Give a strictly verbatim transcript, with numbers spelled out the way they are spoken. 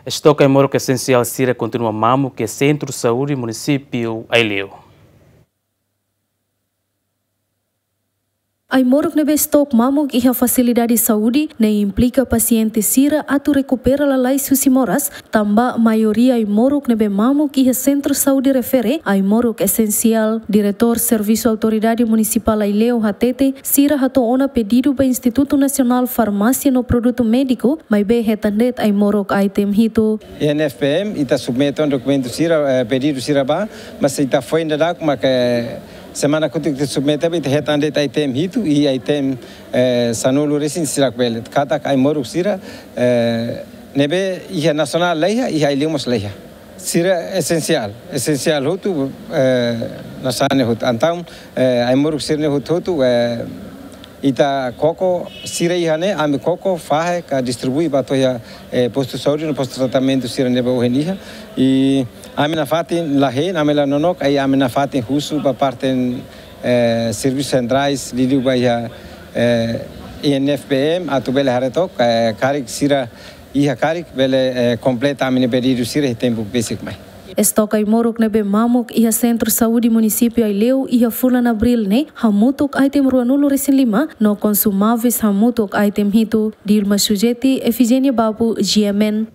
Estoke ai-moruk esensiál sira kontinua mamuk iha Sentru Saúde Munisípiu Aileu. Ai-moruk ne'ebé estoke mamuk iha fasilidade saúde ne'e implika pasiente sira atu rekupera lalais husi moras, tanba maioria ai-moruk ne'ebé mamuk iha sentru saúde refere ai-moruk esensiál. Diretór Servisu Autoridade Munisipál Aileu hatete, sira hato'o ona pedidu ba Institutu Nasionál Farmásia no Produtu Médiku, maibé hetan de'it ai-moruk item hitu. I N F P M, ita submete ona dokumentu sira, eh, pedidu sira ba, mas ita foin daudauk, mak semana kotuk ita submete ba, ita hetan de'it item hitu, i item, eh, sanulu-resin sira bele. Katak ai-moruk sira, eh, ne'ebé iha nasionál laiha, iha Aileu mós laiha. Sira esensiál, esensiál hotu, eh, nasaun ne'e hotu. Entaun, eh, ai-moruk sira-ne'e hotu-hotu, eh, ita koko, sira iha ne'e, ami koko, fahe, ka distribui ba to'o iha, eh, postu saúde no postu tratamentu sira ne'ebé ohin iha. I ami nafatin la hein, ami la nonook, i ami nafatin husu ba parte, eh, servisu sentrais, liuliu ba iha, eh, I N F P M, atu bele haree took, eh, karik sira iha karik bele, eh, kompleta ami-nia pedidu sira iha tempu besik mai. Estoke ai-moruk ne'ebé mamuk iha Sentru Saúde Munisípiu Aileu iha fulan Abríl ne'e hamutuk item ruanulu-resin-lima, no konsumáveis hamutuk item hitu. Dilma Sujeti, Efigénia Babu, G M N.